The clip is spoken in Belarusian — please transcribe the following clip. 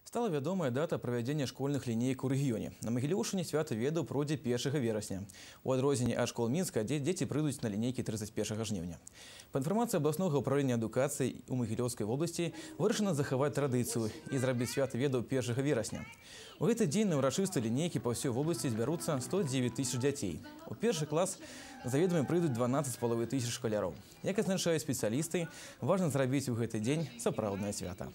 Стала вядомая дата правядзення школьных лінейак у рэгіёне. На Магілёўшчыне свята ведаў пройдзе 1 верасня. У адрозненне ад школ Мінска, дзе дзеці прыйдуць на лінейкі 31 жніўня. Па інфармацыі абласнога ўправлення адукацыі у Магілёўскай вобласці вырашана захаваць традыцыю і зрабіць свята ведаў 1 верасня. У гэты дзень на ўрачыстыя лінейкі па ўсёй вобласці збяруцца 109 тысяч дзяцей. У першы клас заведамі прыйдуць 12,5 тысяч шкаляроў. Як адзначаюць спецыялісты, важна зрабіць у гэты дзень сапраўднае свята.